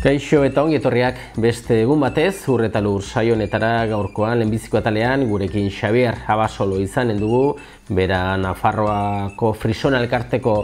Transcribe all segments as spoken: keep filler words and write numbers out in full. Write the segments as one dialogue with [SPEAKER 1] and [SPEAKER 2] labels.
[SPEAKER 1] Kaixo eta ongi etorriak beste egun batez, Ur eta Lur saio honetara gaurkoan lehenbiziko atalean gurekin Xabier Abasolo izanen dugu, bera Nafarroako Frisona elkarteko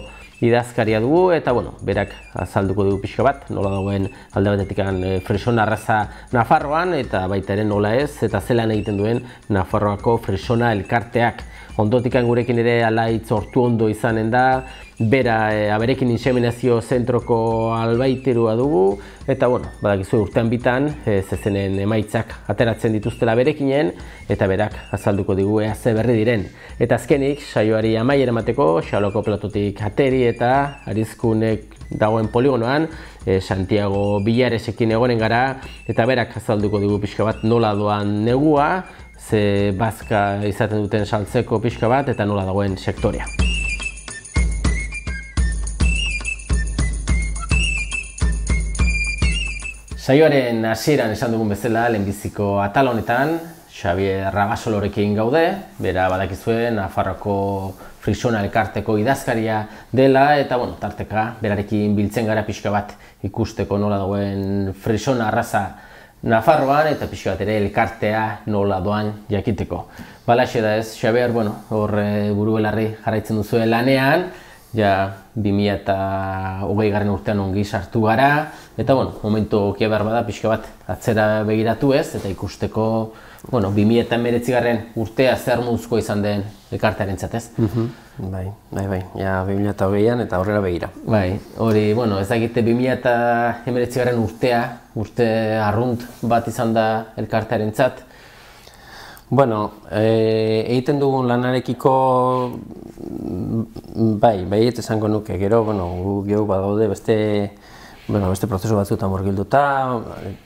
[SPEAKER 1] idazkaria dugu eta bueno, berak azalduko dugu pixka bat, nola dagoen alde batetik Frisona arraza Nafarroan eta baita ere nola ez eta zelan egiten duen Nafarroako Frisona elkarteak. Ondotikan gurekin ere Alaitz Ortuondo izanen da, bera e, aberekin inseminazio zentroko albaiterua dugu eta bueno, badakizu urtean bitan e, zezenen emaitzak ateratzen dituztela berekinen eta berak azalduko digu ea ze berri diren. Eta azkenik, saioari amaiera emateko, Xaloko platotik ateri eta Arizkunek dagoen poligonoan e, Santiago Villaresekin egonen gara eta berak azalduko digu pixka bat nola doan negua, ze bazka izaten duten saltzeko pixka bat eta nola dagoen sektorea. Saioaren hasieran esan dugun bezala, lehenbiziko atal honetan, Xabier Abasolorekin gaude, bera badakizue Nafarroako Frisona elkarteko idazkaria dela eta bueno, tarteka berarekin biltzen gara pixka bat ikusteko nola dagoen Frisona arraza Nafarroan eta pixka bat ere elkartea nola doan jakiteko. Balaxe da ez, Xabier, bueno, hor buru belarri jarraitzen duzu lanean, ja bi mila hogei garren urtean ongi sartu gara, eta bueno, momentu okia behar bada pixka bat atzera begiratu ez, eta ikusteko, bueno, bi mila hemeretzi garren urtea zer muzko izan den elkartearen zatez.
[SPEAKER 2] Bai, bai, bai, ja bi mila hogeian eta horrela begira.
[SPEAKER 1] Bai, hori, bueno, ez dakite bi mila hemeretzi garren urtea, urte arrunt bat izan da elkartearen zat.
[SPEAKER 2] Bueno, egiten dugun lanarekiko, bai, bai, eta esango nuke, gero, bueno, gu gehu badaude beste, bueno, beste prozesu batzuetan murgilduta,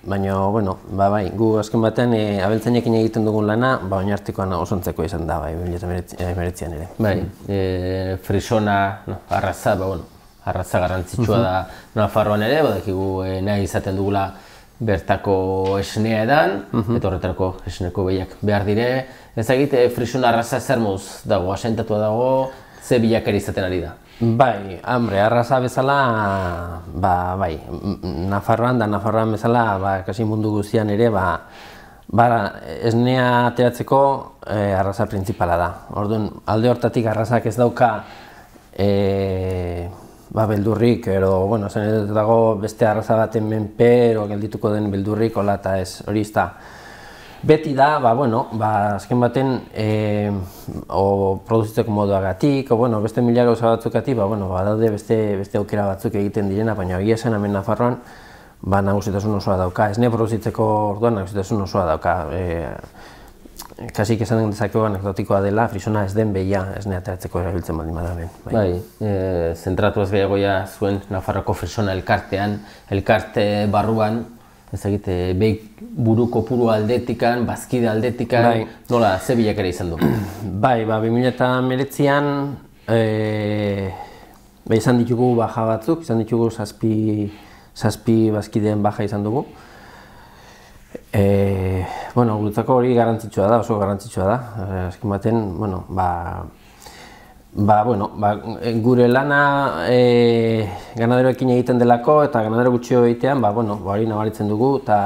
[SPEAKER 2] baina, bueno, ba, bai, gu azken batean abeltzainekin egiten dugun lana, ba, oinartikoan osontzeko izan da, bai, bi mila hemeretzian ere.
[SPEAKER 1] Bai, Frisona, arraza, ba, bueno, arraza garrantzitsua da Nafarroan ere, badakigu nahi izaten dugula bertako esnea edan, eta horretarako esneko behiak behar dire. Ez egite Frisona arraza zer moduz dago, asentatua dago, ze bilakera izaten ari da?
[SPEAKER 2] Bai, hambre, arraza bezala, ba, bai, Nafarroan da Nafarroan bezala, ba, kasi mundu guztian ere, ba, ba, esnea ateratzeko eh, arraza printzipala da. Orduan, alde hortatik arrazak ez dauka eh, ba, beldurrik, ero, bueno, zen dago beste arraza baten menpe, ero geldituko den beldurrik, hola eta ez, hori izta. Beti da, ba, bueno, ba, azken baten, e, o produzitzeko moduagatik, o, bueno, beste mila gauza batzukatik, ba, bueno, ba, daude beste, beste aukera batzuk egiten direna, baina egia esan hemen Nafarroan, ba, nagusitasun osoa dauka. Esne produzitzeko orduan nagusitasun osoa dauka. E, Kasik esan dezakegu anekdotikoa dela, Frisona ez den behia esne ateratzeko erabiltzen baldin badaben.
[SPEAKER 1] Bai, e, zentratu ez gehiagoia zuen Nafarroko Frisona elkartean, elkarte barruan, ez egite, behi buru kopuru aldetikan, bazkide aldetikan, bai. Nola, ze bilakera izan du?
[SPEAKER 2] Bai, ba, bi mila hemeretzian e, ba, izan ditugu baja batzuk, izan ditugu zazpi, zazpi bazkideen baja izan dugu. E, bueno, guretzako hori garrantzitsua da, oso garrantzitsua da. E, azken baten, bueno, ba, ba, bueno, ba, gure lana e, ganaderoekin egiten delako eta ganadero gutxio egitean, ba, bueno, ba, hori nabaritzen dugu, eta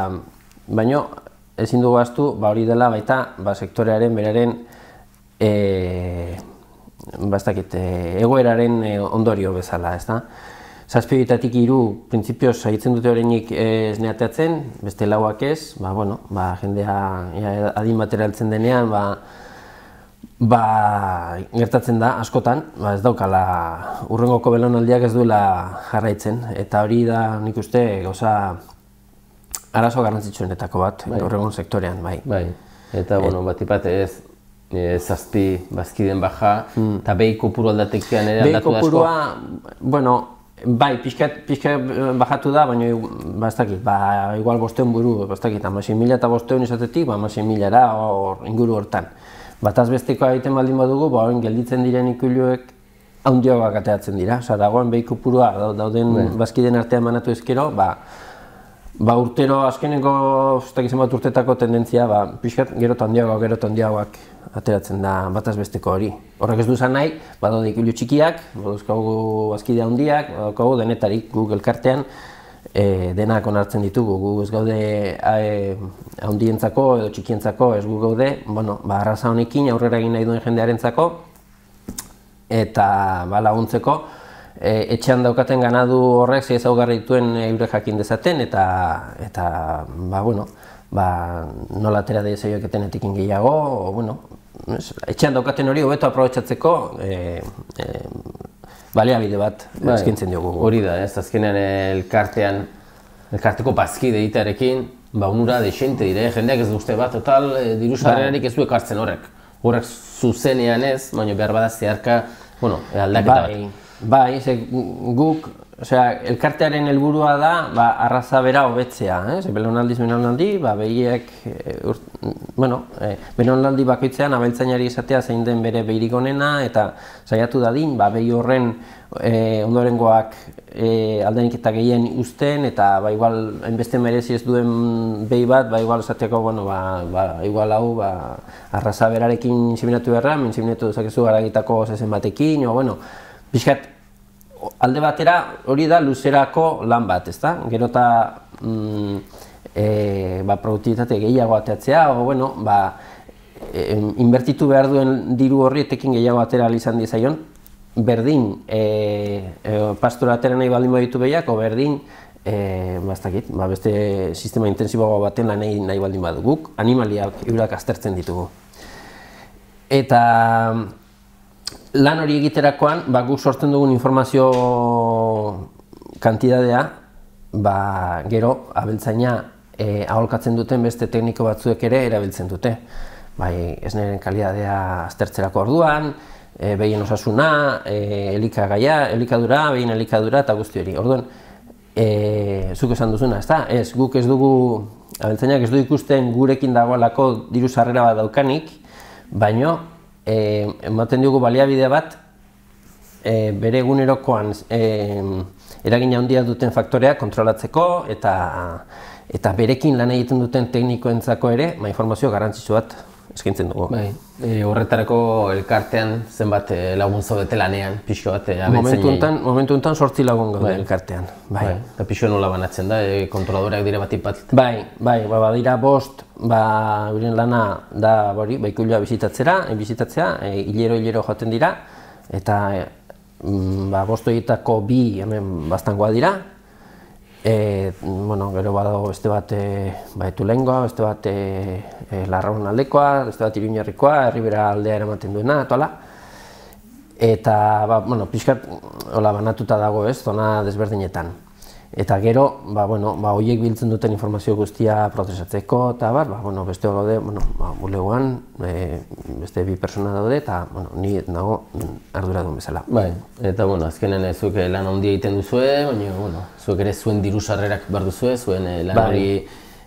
[SPEAKER 2] baino ezin dugu ahaztu, ba, hori dela baita ba, sektorearen beraren e, ba, ez dakit, egoeraren e, ondorio bezala, ez da? Zazpioetatik hiru printzipioz egiten dute horreinik esne ateratzen, beste lauak ez, ba, bueno, ba, jendea ja, adin batera heltzen denean, ba, ba, gertatzen da askotan, ba, ez daukala hurrengoko belaunaldiak ez duela jarraitzen, eta hori da nik uste gauza arazo garrantzitsuenetako bat, bai. Horrengon sektorean, bai.
[SPEAKER 1] Bai, eta, bueno, bat ipat ez, e, zazpi bazkiden baja, mm. eta behi kopuru aldatekian ere aldatu da asko?
[SPEAKER 2] Behi kopurua, bueno, bai, pixkat, pixkat bajatu da, baina ba, ez dakit, ba, igual bosteun buru, ba, ez dakit, hamasei mila eta bosteun izatetik, ba, hamasei milara or, inguru hortan. Bataz besteko egiten baldin badugu, ba, horren gelditzen diren ikuiluek handiagoak ateratzen dira. Osa, dagoen behi kopurua dauden ben. Bazkideen artean manatu ezkero, ba, ba, urtero, azkeneko, ez dakit zenbat urtetako tendentzia, ba, pixkat, gero eta handiagoak, gero eta handiagoak ateratzen da bataz besteko hori. Horrek ez du zan nahi, badaude ikuilu txikiak, baduzkagu bazkide handiak, badaukagu denetarik Google kartean, denak onartzen ditugu, gu ez gaude handientzako edo txikientzako ez gu gaude, bueno, ba, arraza honekin aurrera egin nahi duen jendearentzako eta ba, laguntzeko etxean daukaten ganadu horrek ze ezaugarri dituen eurek jakin dezaten eta eta ba, bueno, ba, nola atera de zeioeketenetik gehiago, o, bueno, etxean daukaten hori hobeto aprobetxatzeko e, e, baliabide bat eskaintzen diogu.
[SPEAKER 1] Hori da, ez azkenean elkartean, elkarteko bazkide egitearekin, ba unura dexente dire, jendeak ez duzte bat, total, diru sarrerarik ez du ekartzen horrek. Horrek zuzenean ez, baina behar bada zeharka, bueno, aldaketa bat.
[SPEAKER 2] Bai, ze guk, osea, elkartearen helburua da, ba, arraza bera hobetzea, eh? Ze belaunaldiz belaunaldi, ba, behiek, e, ur, bueno, e, belaunaldi bakoitzean abeltzainari izatea zein den bere behirik onena, eta saiatu dadin, ba, behi horren e, ondorengoak e, aldenik eta gehien uzten, eta ba, igual, hainbeste merezi ez duen behi bat, ba, igual esateko, bueno, ba, ba, igual hau, ba, arraza berarekin inseminatu beharra, inseminatu dezakezu garagitako zezen batekin, o, bueno, pixkat, alde batera hori da luzerako lan bat, ezta? Gero eta mm, e, ba, produktibitate gehiago ateatzea, o, bueno, ba, e, inbertitu behar duen diru horri etekin gehiago atera izan dizaion, berdin e, e, pastura atera nahi baldin baditu behiak, o berdin e, bastakit, ba, beste sistema intensiboago baten lan nahi, nahi baldin baduguk, animaliak eurak aztertzen ditugu. Eta lan hori egiterakoan, ba, guk sortzen dugun informazio kantidadea, ba, gero abeltzaina e, aholkatzen duten beste tekniko batzuek ere erabiltzen dute. Bai, esneren kalidadea aztertzerako orduan, e, behien osasuna, e, elikagaia, elikadura, behien elikadura eta guzti hori. Orduan, e, zuk esan duzuna, ezta? Ez, guk ez dugu, abeltzainak ez du ikusten gurekin dagoelako diru sarrera bat daukanik, baino, E, ematen diogu baliabide bat e, bere egunerokoan e, eragina handia duten faktoreak kontrolatzeko eta eta berekin lan egiten duten teknikoentzako ere ba, informazio garrantzitsu bat eskaintzen dugu.
[SPEAKER 1] Bai, e, horretarako elkartean zenbat e, lagun zaudete lanean, pixko bat abeltzainei?
[SPEAKER 2] Momentu honetan sortzi lagun gaude bai. Elkartean. Bai. Bai.
[SPEAKER 1] Eta pixko nola banatzen da, e, kontroladoreak dira bat ipat?
[SPEAKER 2] Bai, bai, ba, badira bost, ba, euren lana da hori, ba, ikuilua bizitatzera, e, bizitatzea, e, hilero hilero joaten dira, eta e, ba, bost horietako bi hemen bastangoa dira. E, bueno, gero badago beste bat e, ba, Etulengoa, beste bat e, e, Larraun aldekoa, beste bat Iruñerrikoa, Herribera aldea eramaten duena, eta hola. Eta, ba, bueno, pixkat, hola, banatuta dago ez, zona desberdinetan. Eta gero, ba, bueno, ba, horiek biltzen duten informazio guztia prozesatzeko, eta bar, ba, bueno, beste gaude, bueno, ba, bulegoan, e, beste bi persona daude, eta, bueno, ni nago arduradun bezala.
[SPEAKER 1] Bai, eta, bueno, azkenen zuek lan handia egiten duzue, baina, bueno, zuek ere zuen diru sarrerak behar duzue, zuen lan hori,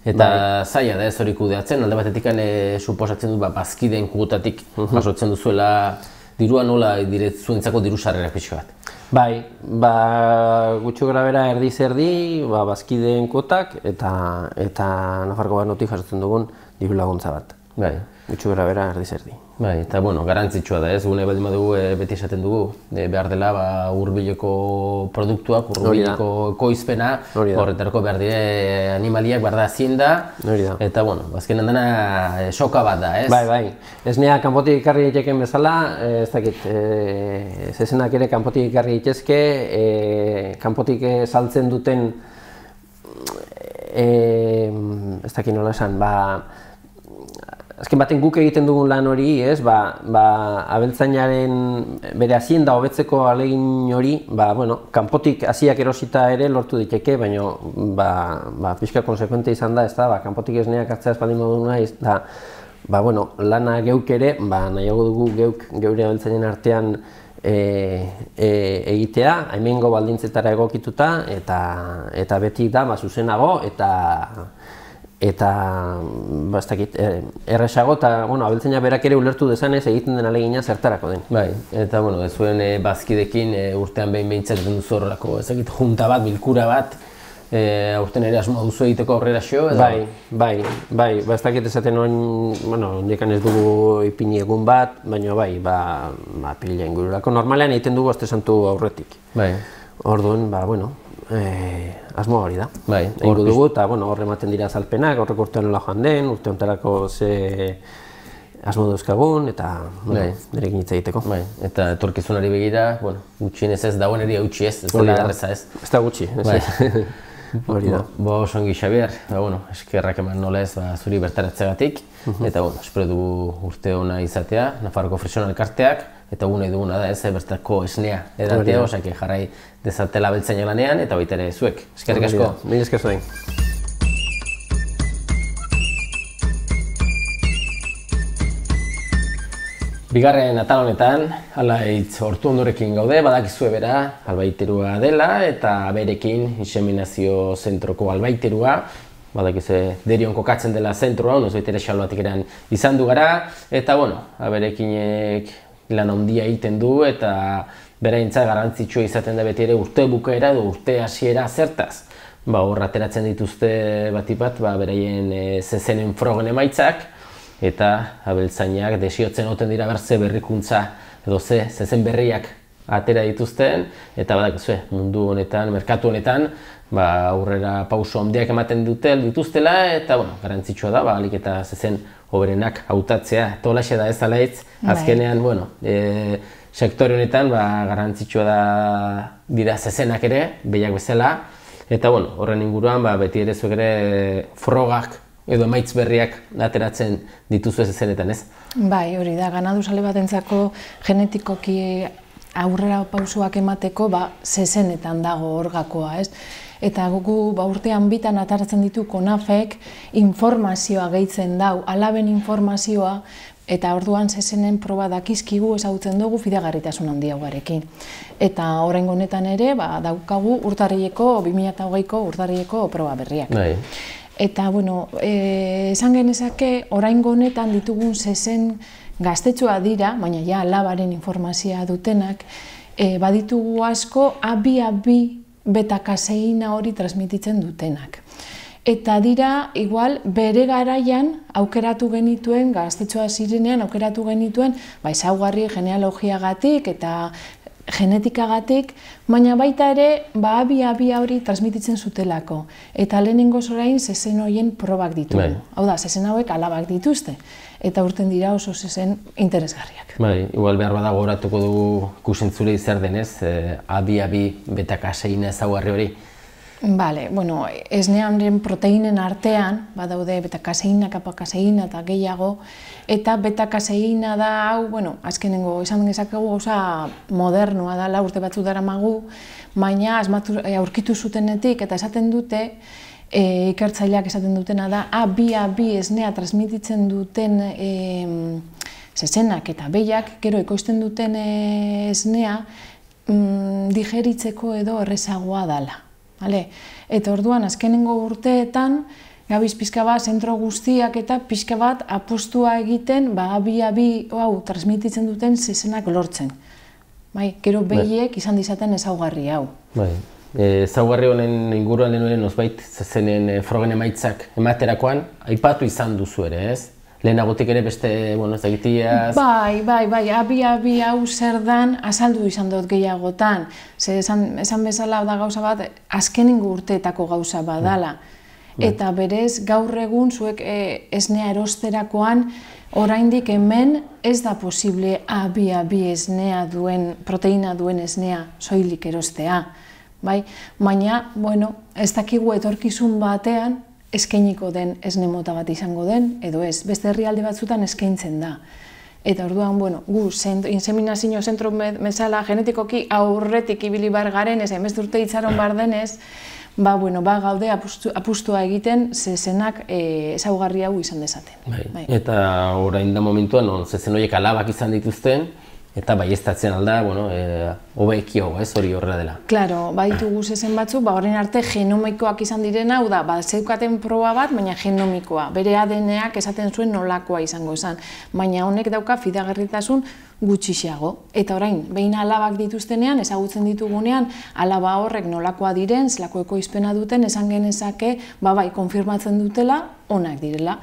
[SPEAKER 1] eta zaila da ez hori kudeatzen, alde batetik suposatzen du, ba, bazkideen kugutatik jasotzen duzuela dirua nola dire zuentzako diru sarrerak pixka bat.
[SPEAKER 2] Bai, ba, gutxo gara bera erdi zerdi, ba, bazkideen kuotak eta eta Nafarroko Gobernutik jasotzen dugun diru laguntza bat.
[SPEAKER 1] Bai.
[SPEAKER 2] Gutxo gara bera erdi zerdi.
[SPEAKER 1] Bai, eta bueno, garantzitsua da ez, gune baldin badugu e, beti esaten dugu, e, behar dela ba, hurbileko produktuak, hurbileko ekoizpena, horretarako behar dire animaliak, behar da hazienda, eta bueno, azkenean dena e, soka bat da, ez?
[SPEAKER 2] Bai, bai, esnea kanpotik ekarri egiteken bezala, e, ez dakit, e, zezenak ere kanpotik ekarri egitezke, e, kanpotik e, saltzen duten, e, ez dakit nola esan, ba, azken baten guk egiten dugun lan hori, ez, ba, ba, abeltzainaren bere hazienda hobetzeko ahalegin hori, ba, bueno, kanpotik haziak erosita ere lortu diteke, baina ba, ba, pixka konsekuente izan da, ez da, ba, kanpotik esneak hartzea espaldin modu nahi, da, ba, bueno, lana geuk ere, ba, nahiago dugu geuk geure abeltzainen artean e, e, egitea, hemengo baldintzetara egokituta, eta, eta beti da, ba, zuzenago, eta eta ba, ez dakit, erresago eta bueno, abeltzaina berak ere ulertu dezanez egiten den ahalegina zertarako den.
[SPEAKER 1] Bai, eta bueno, zuen e, bazkidekin e, urtean behin behintzat duzu horrelako, ez dakit, junta bat, bilkura bat, e, aurten ere asmo duzu egiteko aurrera xo, edo?
[SPEAKER 2] Bai, bai, bai, ba, ez dakit esaten oin, bueno, ondekan ez dugu ipini egun bat, baina bai, ba, ba, pilila ingururako. Normalean egiten dugu aste santu aurretik.
[SPEAKER 1] Bai.
[SPEAKER 2] Orduan, ba, bueno, asmoa hori da.
[SPEAKER 1] Bai,
[SPEAKER 2] egingo dugu, eta horre ematen dira azalpenak, horrek urtean nola joan den, urte hontarako ze asmo dauzkagun, eta nirekin hitz egiteko.
[SPEAKER 1] Eta etorkizunari begira, gutxienez ez dagoeneri utzi ez, ez dela erreza ez.
[SPEAKER 2] Ez da gutxi, ez. Hori da.
[SPEAKER 1] Bo, osongi Xabier, eskerrak eman nola ez zuri bertaratzeagatik, eta espero dugu urte ona izatea, Nafarroko Frisonan elkarteak, eta gu nahi duguna da ez, bertako esnea edatea, osak jarrai dezatela beltzaina lanean, eta baita ere zuek. Eskerrik asko.
[SPEAKER 2] Mil esker zuen.
[SPEAKER 1] Bigarren atal honetan, Alaitz Hortu Ondorekin gaude, badakizue bera albaiterua dela, eta berekin inseminazio zentroko albaiterua, badakizue Derion kokatzen dela zentroa, noiz baitere Xalbatik eran izan du gara, eta bueno, berekinek lan handia egiten du, eta beraintza garrantzitsua izaten da beti ere urte bukaera edo urte hasiera zertaz. Hor ateratzen dituzte batipat, beraien zezenen frogen emaitzak, eta abeltzainak desiotzen oten dira berze berrikuntza edo ze zezen berriak atera dituzten, eta badakizue mundu honetan, merkatu honetan, aurrera pauso handiak ematen dituztela, eta garrantzitsua da, ahalik eta zezen hoberenak hautatzea. Eta holaxe da ez Alaitz, azkenean, sektore honetan garrantzitsua dira zezenak ere, behiak bezala, eta horren inguruan beti ere zuek ere frogak edo emaitz berriak ateratzen dituzu ez zenetan, ez?
[SPEAKER 3] Bai, hori da, ganaduzale batentzako genetikoki aurrera pausoak emateko zezenetan dago orgakoa, ez? Eta gugu urtean bitan ataratzen ditu konafek informazioa gehitzen dau, alaben informazioa, eta orduan zezenen proba dakizkigu ezagutzen dugu fidagarritasun handia ugarekin. Eta oraingo honetan ere, daukagu urtarrileko, bi mila hogeiko urtarrileko proba berriak. Eta, bueno, esan genezake, oraingo honetan ditugun zezen gaztetxoa dira, baina ja alabaren informazioa dutenak, baditugu asko A bi A bi beta-kaseina hori transmititzen dutenak. Eta dira, igual, bere garaian aukeratu genituen, gaztetxoa zirenean aukeratu genituen, ezaugarri genealogiagatik eta genetikagatik, baina baita ere A bi A bi hori transmititzen zutelako. Eta lehenengo orain zezen horien probak ditugu. Hau da, zezen hauek alabak dituzte. Eta urten dira oso zezen interesgarriak.
[SPEAKER 1] Bai, igual behar badago horatuko dugu kusentzule zer denez, A bi A bi beta-kaseina ezaugarri hori.
[SPEAKER 3] Bale, bueno, esnearen proteinen artean, badaude beta-kaseina, kappa-kaseina eta gehiago, eta beta-kaseina da hau, bueno, azkenengo esan gezakegu gauza modernoa da, urte batzu daramagu, baina aurkitu zutenetik eta esaten dute, ikertzaileak esaten dutena da, A bi A bi esnea transmititzen duten zezenak eta behiak, gero ekoizten duten esnea digeritzeko edo errezagoa dela. Eta orduan, azkenengo urteetan, gabiz pixka bat, zentro guztiak eta pixka bat apostua egiten A bi A bi transmititzen duten zezenak lortzen. Gero behiek izan dizaten ezaugarri hau.
[SPEAKER 1] Ezaugarri honen inguruan denuen nozbait zezenen frogen emaitzak ematerakoan, aipatu izan duzu ere, ez? Lehenagotik ere beste, bueno, ez egitiaz...
[SPEAKER 3] Bai, bai, bai, A bi A bi hau zer dan azaldu izan dut gehiagotan. Esan bezala da gauza bat, azkenengo urteetako gauza badala. Eta berez, gaur egun zuek esnea erosterakoan, oraindik hemen ez da posible A bi A bi esnea duen, proteina duen esnea soilik erostea. Baina, bueno, ez dakigu etorkizun batean, eskainiko den esne mota bat izango den, edo ez, beste herrialde batzutan eskaintzen da. Eta orduan, bueno, gu, inseminazio zentro bezala genetikoki aurretik ibili bar garen, ez hainbeste urte itxaron bar denez, ba, bueno, ba, gaude apustua egiten zezenak ezaugarri hau izan dezaten.
[SPEAKER 1] Eta orain da momentuan, zezen horiek alabak izan dituzten, eta baieztatzen alda, bueno, hobekio, ez hori horrela dela.
[SPEAKER 3] Claro, baditugu zezen batzu, ba, orain arte genomikoak izan direna, hau da, ba, zeukaten proba bat, baina genomikoa. Bere A D N-ak esaten zuen nolakoa izango izan. Baina honek dauka fidagarritasun gutxixago. Eta orain, behin alabak dituztenean, ezagutzen ditugunean, alaba horrek nolakoa diren, zelako ekoizpena duten, esan genezake, ba bai, konfirmatzen dutela, onak direla.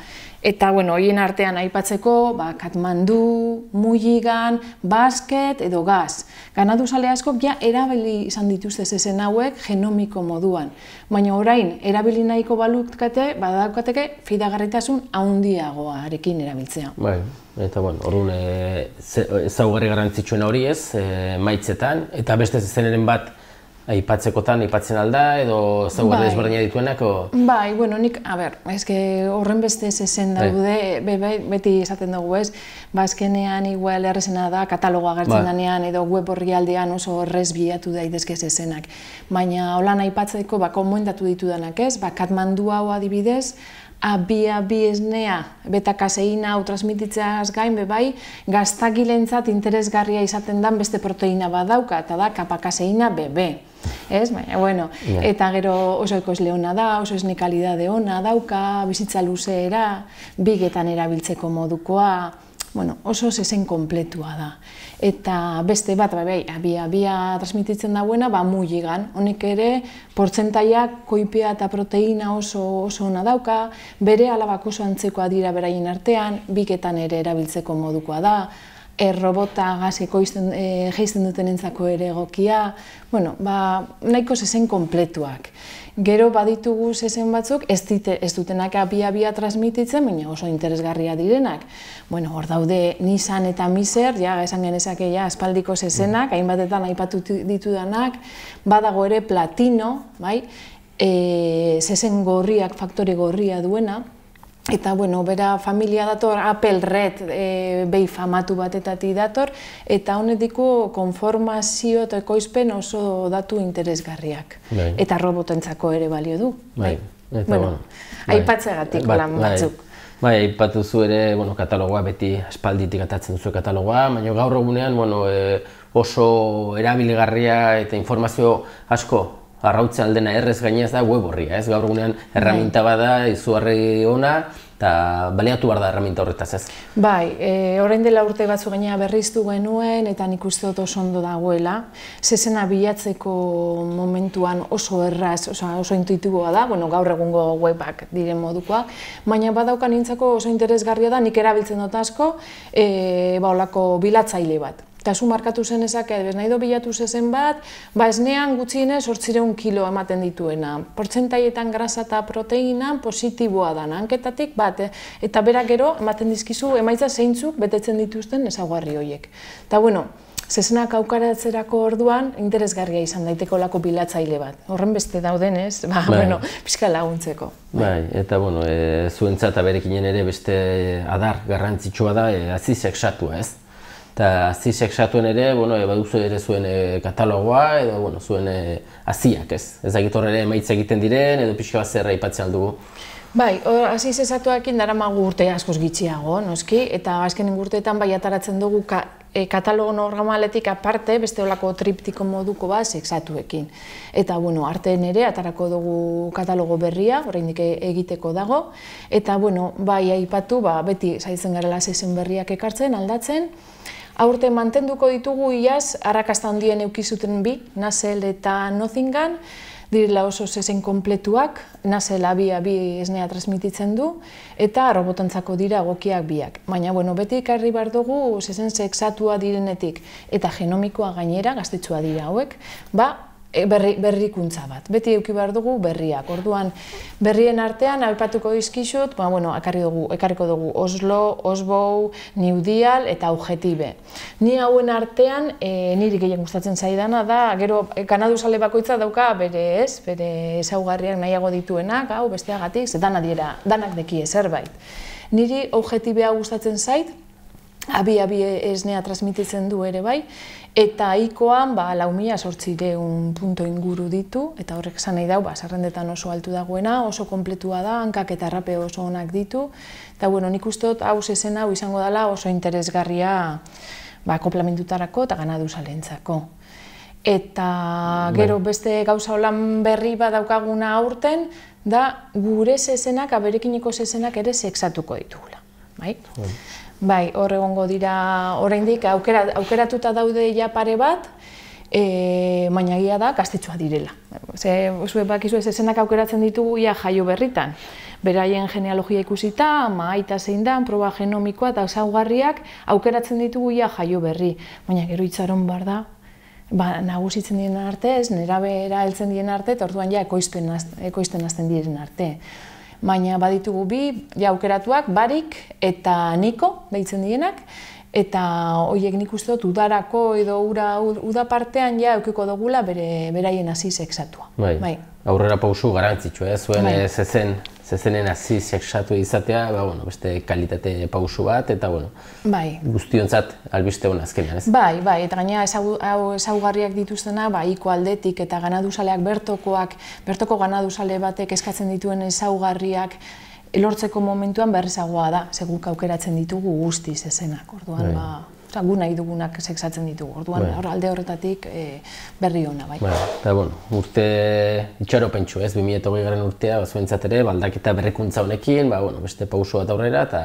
[SPEAKER 3] Eta, bueno, horien artean aipatzeko, ba, Katmandu, Mulligan, Basket edo Gaz. Ganaduzale askok ja erabili izan dituzte zezen hauek genomiko moduan. Baina orain, erabili nahiko balutkate, badaukateke fidagarritasun handiagoarekin erabiltzea.
[SPEAKER 1] Bai, eta, bueno, orduan ezaugarri garrantzitsuena hori ez, maitzetan, eta beste zezeneren bat aipatzekotan, aipatzen alda, edo ezaugarri ezberdina dituenak?
[SPEAKER 3] Bai, bueno, nik, a ber, eske horren beste zezen daude, beti esaten dugu ez, ba, azkenean igual errezena da, katalogoa agertzen danean, edo web orrialdean oso errez bilatu daitezke zezenak. Baina, holan aipatzeko, ba, komentatu ditudanak ez, ba, Katmandu hau adibidez, A bi A bi esnea, beta-kaseina hau transmititzeaz gain, bebai, gaztagilentzat interesgarria izaten dan beste proteina bat dauka, eta da kapakaseina B B. Ez, baina, bueno, eta gero oso ekoizle ona da, oso esne kalidade ona dauka, bizitza luzeera, bigetan erabiltzeko modukoa, bueno, oso zezen kompletua da. Eta beste bat, bai, abia-abia transmititzen dauena, ba, Mulligan. Honek ere, portzentaiak koipea eta proteina oso oso ona dauka, bere alabak oso antzekoa dira beraien artean, biketan ere erabiltzeko modukoa da, errobota gazeko geizten dutenentzako ere egokia, bueno, ba, nahiko zezen kompletuak. Gero baditugu zezen batzuk, ez dutenak abia-abia transmititzen, baina oso interesgarria direnak. Bueno, hor daude Nissan eta Miser, ja, esan genezake ja, aspaldiko zezenak, hainbatetan aipatu ditudanak, badago ere Platino, bai, zezen gorriak, faktore gorria duena, eta, bueno, bera familia dator, Apple Red behi famatu batetatik dator, eta honetiko konformazio eta ekoizpen oso datu interesgarriak. Eta robotentzako ere balio du. Bueno, aipatzegatik lan batzuk.
[SPEAKER 1] Bai, aipatu zu ere, bueno, katalogoa beti aspalditik atatzen duzu katalogoa, baina gaur egunean, bueno, oso erabiligarria eta informazio asko arrautzen aldena errez gainez da web horria, ez? Gaur egunean erraminta bada, izugarri ona, eta baliatu behar da erraminta horretaz, ez?
[SPEAKER 3] Bai, orain dela urte batzu gainera berriztu genuen, eta nik uste dut oso ondo dagoela. Zezena bilatzeko momentuan oso erraz, oso intuitiboa da, bueno, gaur egungo webak diren modukoak, baina badaukan nintzako oso interesgarria da, nik erabiltzen dut asko, ba, olako bilatzaile bat. Eta zu markatu zenezak, bez nahi do bilatu zezen bat, ba esnean gutxienez zortziehun kilo ematen dituena. Portzentaietan grasa eta proteina positiboa da, hanketatik bat, eta berak gero ematen dizkizu emaitza zeintzuk betetzen dituzten ezaugarri horiek. Eta, bueno, zezenak aukaratzerako orduan interesgarria izan daiteko lako bilatzaile bat. Horren beste dauden ez, ba, bueno, pixka laguntzeko.
[SPEAKER 1] Bai, eta, bueno, zuentzat aberekinen ere beste adar garrantzitsua da, aziz exatua, ez? Eta aziz exatuen ere, bueno, baduzu ere zuen katalogoa, edo, bueno, zuen aziak, ez? Ez dakit horre ere emaitza egiten diren, edo pixka bat zerra aipatzen aldugu.
[SPEAKER 3] Bai, aziz exatuekin daramagu urte askoz gitxiago, noski, eta azkenen urteetan bai ataratzen dugu katalogo normaletik aparte, beste olako triptiko moduko bat exatuekin. Eta, bueno, arteen ere atarako dugu katalogo berria, oraindik egiteko dago, eta, bueno, bai aipatu, beti saiatzen garela zezen berriak ekartzen, aldatzen. Aurte mantenduko ditugu iaz, arrakasta handien eukizuten bi, Nasel eta Nothingan, direla oso zezen kompletuak, Nasel abi-abi esnea transmititzen du, eta robotantzako dira egokiak biak. Baina, bueno, beti ekarri behar dugu zezen sexatua direnetik, eta genomikoa gainera, gaztetxua dira hauek, ba, berrikuntza bat. Beti eduki behar dugu berriak. Orduan, berrien artean, aipatuko dizkizut, ekarriko dugu Oslo, Osbow, New Deal eta Objetibe. Ni hauen artean, niri gehien gustatzen zaidana da, gero kanaduzale bakoitza dauka bere ez, bere ezaugarriak nahiago dituenak, hau besteagatik, ze danak dekie zerbait. Niri Objetibea gustatzen zait, abi-abi esnea transmititzen du ere bai, eta ikoan lau mila zortziehun punto inguru ditu, eta horrek esan nahi dau, zerrendetan oso altu dagoena, oso kompletua da, hankak eta arrape oso onak ditu, eta bueno, nik uste dut hau zezen hau izango dela oso interesgarria konplementutarako eta ganaduzalentzako. Eta gero beste gauza holan berri bat daukaguna aurten, da gure zezenak, aberekiniko zezenak ere sexatuko ditugula. Bai, hor egongo dira oraindik aukera, aukeratuta daude ja pare bat, e, baina egia da gaztetxoa direla. Ze, zuek bakizu ez esenak aukeratzen ditugu ia jaio berritan. Beraien genealogia ikusita, ama aita zein da, proba genomikoa eta ezaugarriak aukeratzen ditugu ia jaio berri. Baina gero itxaron bar da, ba, nagusitzen diren arte, ez, nerabera heltzen diren arte, eta orduan ja ekoizten, ekoizten hasten diren arte. Baina baditugu bi, ja aukeratuak, Barik eta Niko, deitzen dienak, eta horiek nik uste dut udarako edo ura, uda partean ja eukiko dugula bere, beraien hasi sexatua.
[SPEAKER 1] Bai.
[SPEAKER 3] Bai.
[SPEAKER 1] Aurrera pausu garantzitsua, eh? Zuen
[SPEAKER 3] Bai.
[SPEAKER 1] zezen, zezenen hasi sexatu izatea, ba, bueno, beste kalitate pausu bat, eta bueno,
[SPEAKER 3] Bai.
[SPEAKER 1] guztiontzat albiste hona azkenean, ez?
[SPEAKER 3] Bai, bai, eta gaina ezaugarriak dituztena, ba, iko aldetik eta ganaduzaleak bertokoak, bertoko ganaduzale batek eskatzen dituen ezaugarriak lortzeko momentuan berrezagoa da, seguk aukeratzen ditugu guztiz ezenak, orduan,
[SPEAKER 1] Bai.
[SPEAKER 3] ba, gu nahi dugunak sexatzen ditugu, orduan,
[SPEAKER 1] Bai.
[SPEAKER 3] alde horretatik e, berri ona, bai.
[SPEAKER 1] Bai, eta bueno, urte itxaropentsu, ez, bi mila hogei garren urtea, ba, zuentzat ere, baldaketa berrikuntza honekin, ba, bueno, beste pauso bat aurrera, eta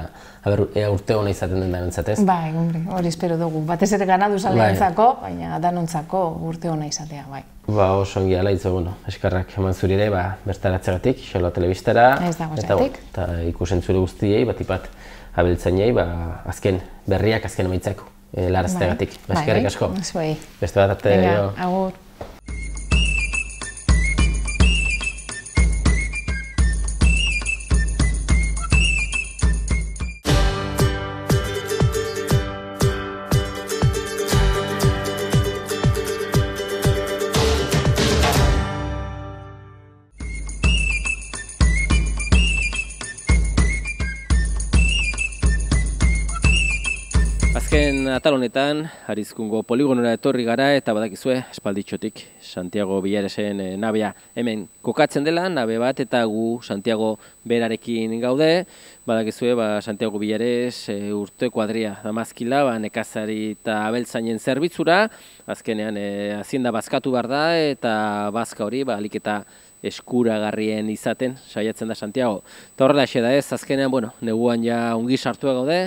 [SPEAKER 1] aber, ea urte hona izaten den danontzat, ez?
[SPEAKER 3] Bai, hombre, hori espero dugu, batez ere ganaduzaleentzako, baina danontzako urte ona izatea, bai.
[SPEAKER 1] Ba, oso ongi ala itzo, bueno, eskarrak eman zuri ere, ba, bertaratzegatik, Xalo Telebistara,
[SPEAKER 3] Ez dago
[SPEAKER 1] eta,
[SPEAKER 3] zergatik.
[SPEAKER 1] eta ikusentzule guztiei, batipat abeltzainei, ba, azken berriak, azken emaitzak e, larazteagatik. Ba, eskerrik asko.
[SPEAKER 3] Zuei.
[SPEAKER 1] Beste bat arte,
[SPEAKER 3] Venga,
[SPEAKER 1] jo.
[SPEAKER 3] agur.
[SPEAKER 1] Azken atal honetan, Arizkungo poligonora etorri gara eta badakizue, espalditxotik Santiago Villaresen e, nabea hemen kokatzen dela, nabe bat eta gu Santiago berarekin gaude. Badakizue, ba, Santiago Villares e, urte kuadria damazkila, ba, nekazari eta abeltzainen zerbitzura, azkenean e, hazienda bazkatu behar da eta bazka hori, ba, alik eta eskuragarrien izaten saiatzen da Santiago. Eta horrela xe da ez, azkenean, bueno, neguan ja ongi sartua gaude,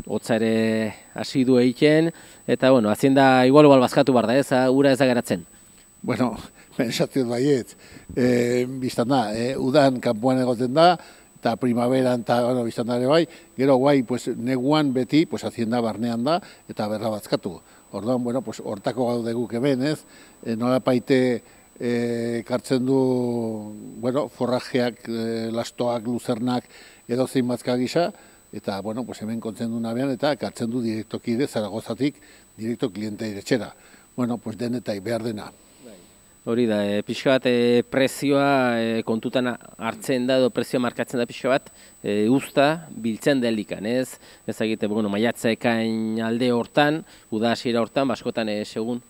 [SPEAKER 1] hotza ere hasi du egiten, eta, bueno, hazienda igual-igual bazkatu behar da ez, ura ez da geratzen.
[SPEAKER 4] Bueno, pensatzen baiet, e, biztan da, e, udan kanpoan egoten da, eta primaveran eta, bueno, biztan da ere bai, gero guai, pues, neguan beti, pues, hazienda barnean da, eta berra bazkatu. Orduan, bueno, pues, hortako gaude guk hemen, ez, e, nola paite, e, kartzen du, bueno, forrajeak, e, lastoak, luzernak, edo zein bazka gisa, eta, bueno, pues hemen kontzen du nabean, eta kartzen du direktoki ere Zaragozatik, direkto kliente iretxera. Bueno, pues denetai behar dena.
[SPEAKER 1] Hori da, e, pixka bat e, prezioa e, kontutan hartzen da, edo prezioa markatzen da pixka bat, e, usta biltzen delikan, ez? Ez egite, bueno, maiatza ekain alde hortan, uda hasiera hortan, baskotan, e, segun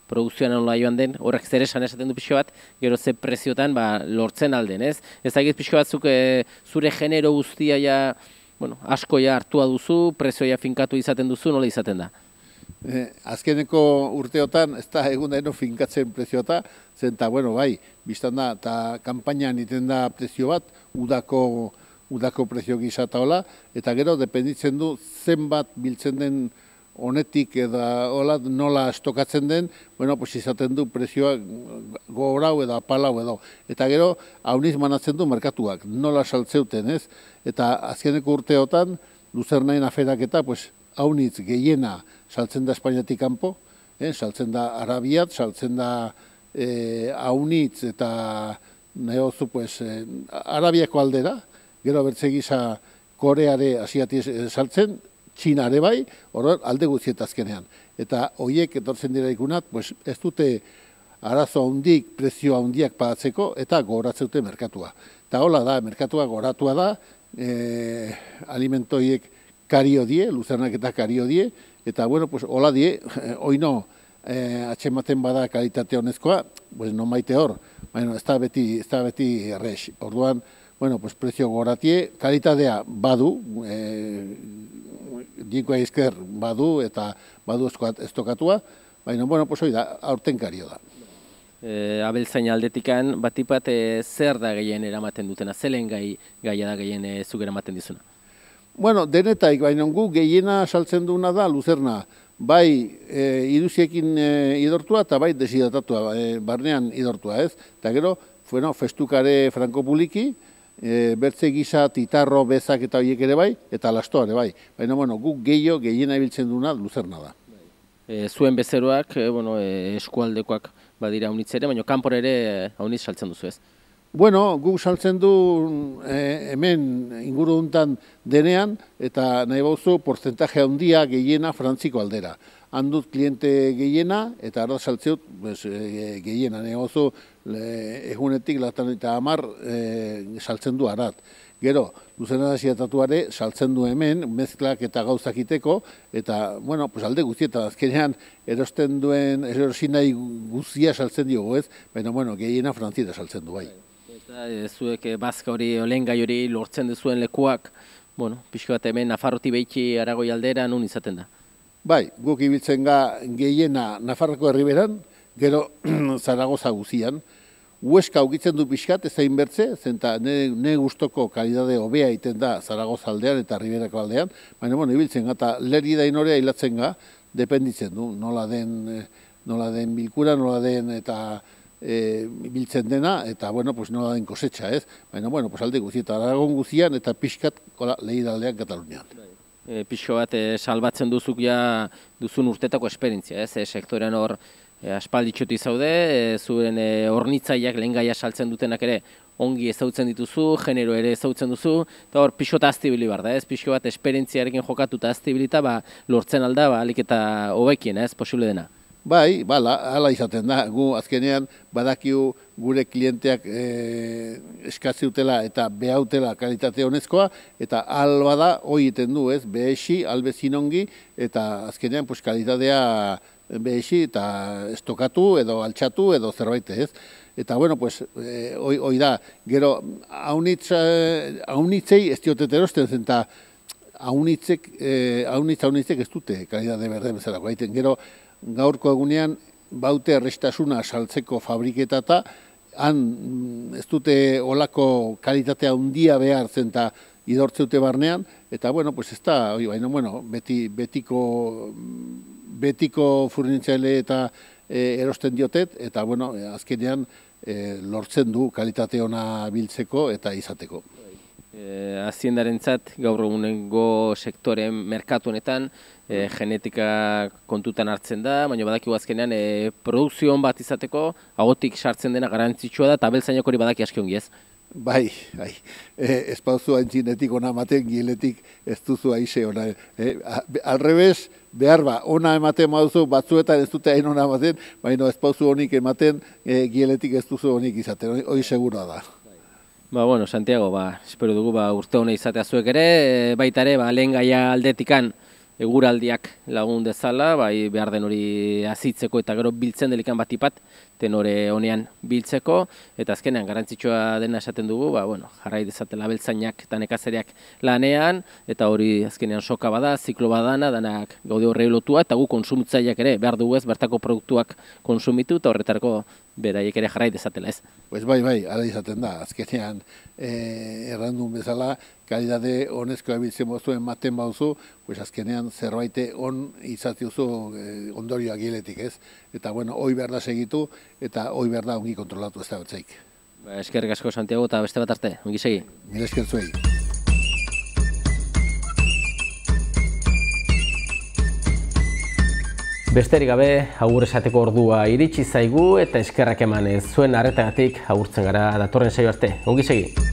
[SPEAKER 1] produkzioan nola joan den, horrek zer esan esaten du pixka bat, gero ze preziotan ba, lortzen alden, ez? Ez egit pixka batzuk e, zure genero guztia ja, bueno, asko ja hartua duzu, prezioa finkatu izaten duzu, nola izaten da?
[SPEAKER 4] Eh, azkeneko urteotan, ez da egun daino finkatzen prezioa, zen eta, bueno, bai, biztan da, eta kanpainan iten da prezio bat, udako, udako prezio gisa eta hola, eta gero, dependitzen du zenbat biltzen den honetik edo hola, nola estokatzen den, bueno, pues izaten du prezioa gorau edo apalau edo. Eta gero, hauniz manatzen du merkatuak, nola saltzeuten, ez? Eta azkeneko urteotan, luzernain aferak eta, pues, haunitz gehiena saltzen da Espainiatik kanpo, eh? Saltzen da Arabiat, saltzen da eh, haunitz eta nahi hozu, pues, eh, Arabiako aldera, gero bertze gisa Koreare asiati saltzen, Txinare bai, horren alde guztiet azkenean. Eta horiek etortzen dira ikunat, pues, ez dute arazo handik, prezio handiak pagatzeko, eta goratzeute merkatua. Eta hola da, merkatua goratua da, e, alimentoiek kario die, luzernak eta kario die, eta bueno, pues, hola die, oino, e, atxematen bada kalitate honezkoa, pues, non maite hor, bueno, ez da beti, ez da beti errex. Orduan, bueno, pues, prezio goratie, kalitatea badu, e, dinkoa izker badu eta badu estokatua, baina, bueno, pues hori da, aurten kario da.
[SPEAKER 1] E, abeltzain aldetikan, batipat e, zer da gehien eramaten dutena, zelen gai, gaia da gehien e, zuk eramaten dizuna?
[SPEAKER 4] Bueno, denetaik, baina gu gehiena saltzen duena da luzerna. Bai e, iruziekin e, idortua eta bai desidratatua, e, barnean idortua, ez? Eta gero, bueno, festukare frankopuliki, e, bertze gisa, titarro, bezak eta horiek ere bai, eta lastoare bai. Baina, bueno, guk gehiago, gehiena ibiltzen duena luzerna da.
[SPEAKER 2] E, zuen bezeroak, e, bueno, e, eskualdekoak badira haunitz ere, baina kanpor ere haunitz saltzen duzu, ez?
[SPEAKER 4] Bueno, guk saltzen du eh, hemen inguru duntan denean, eta nahi bauzu porcentaje handia gehiena frantziko aldera. Handut kliente gehiena, eta arda saltzeut pues, e, gehiena. Nahi bauzu egunetik latan eta hamar e, saltzen du arat. Gero, Luzerna Desiatatuare saltzen du hemen, mezklak eta gauzak iteko, eta, bueno, pues alde guztietan, azkenean erosten duen, erosin nahi guztia saltzen diogu, ez? Baina, bueno, gehiena frantziera saltzen du, bai.
[SPEAKER 2] Eta zuek bazka hori, olengai hori lortzen duzuen lekuak, bueno, pixko bat hemen Nafarrotik behitxi Aragoi aldera nun izaten da?
[SPEAKER 4] Bai, guk ibiltzen ga gehiena Nafarroko herriberan, gero Zaragoza guzian. Hueska ukitzen du pixkat, ez zain bertze, zenta ne, ne gustoko kalidade hobea egiten da Zaragoza aldean eta Riberako aldean, baina, bueno, ibiltzen ga, eta lerri dainorea hilatzen ga, dependitzen du, nola den, nola den bilkura, nola den eta e, biltzen dena, eta, bueno, pues nola den kosetxa, ez? Baina, bueno, pues alde guzi, eta Aragon guzian, eta pixkat lehidaldean Katalunian.
[SPEAKER 2] E, pixko bat e, salbatzen duzuk ja duzun urtetako esperientzia, ez? E, sektorean hor E, aspalditxoti zaude, e, zuen e, hornitzaileak lehen gaia saltzen dutenak ere ongi ezautzen dituzu, genero ere ezautzen duzu, eta hor pixo eta aztibili bar da, ez? Pixo bat esperientziarekin jokatu eta aztibilita, ba, lortzen alda, ba, alik eta hobekien, ez? Posible dena.
[SPEAKER 4] Bai, bala, hala izaten da, gu azkenean badakiu gure klienteak e, eskaziutela eta behautela kalitate honezkoa, eta alba da, hoi iten du, ez? Behesi, albezin ongi, eta azkenean pues, kalitatea behesi eta estokatu edo altxatu edo zerbait ez. Eta, bueno, pues, eh, hoi, hoi da, gero, haunitz, eh, haunitzei ez diotet erosten zen, eta haunitzek, eh, haunitz, haunitzek ez dute kalidade berde bezalako. Haiten, gero, gaurko egunean, baute errestasuna saltzeko fabriketata, han ez dute olako kalitatea handia behar zen, eta idortzeute barnean, eta, bueno, pues ez da, baina, bueno, beti, betiko, betiko furnitzaile eta e, erosten diotet, eta, bueno, azkenean e, lortzen du kalitate ona biltzeko eta izateko.
[SPEAKER 2] E, Aziendarentzat gaur egunengo sektoren merkatu honetan e, genetika kontutan hartzen da, baina badakigu azkenean e, produkzio on bat izateko ahotik sartzen dena garrantzitsua da, eta abeltzainak hori badaki aski ongi ez?
[SPEAKER 4] Bai, bai. E, ez pauzu haintzinetik ona ematen, giletik ez duzu aize ona. E, alrebez, behar ba, ona ematen mauzu, batzuetan ez dute hain ona ematen, baina ez pauzu honik ematen, e, giletik ez duzu honik izaten, hori segura da.
[SPEAKER 2] Ba, bueno, Santiago, ba, espero dugu ba, urte hona izatea zuek ere, e, baita ere, ba, lehen gaia aldetikan eguraldiak lagun dezala, bai, behar den hori azitzeko eta gero biltzen delikan bat ipat, tenore honean biltzeko, eta azkenean garrantzitsua dena esaten dugu, ba, bueno, jarrai dezatela beltzainak eta nekazariak lanean, eta hori azkenean soka bada, ziklo badana, danak gaude horrei lotua, eta gu konsumitzaileak ere behar dugu ez, bertako produktuak konsumitu, eta horretarako beraiek ere jarrai dezatela ez.
[SPEAKER 4] Pues bai, bai, ala izaten da, azkenean eh, errandun bezala, kalidade honezkoa biltzen bozu ematen bauzu, pues azkenean zerbaite on izatiozu eh, ondorioa giletik ez. Eta bueno, hoi behar da segitu, eta hoi behar da ongi kontrolatu ez da batzaik.
[SPEAKER 2] Ba, eskerrik asko Santiago eta beste bat arte, ongi segi.
[SPEAKER 4] Mila esker zuei.
[SPEAKER 1] Besterik gabe, agur esateko ordua iritsi zaigu eta eskerrak emanez zuen arretagatik agurtzen gara datorren saio arte. Ongi segi.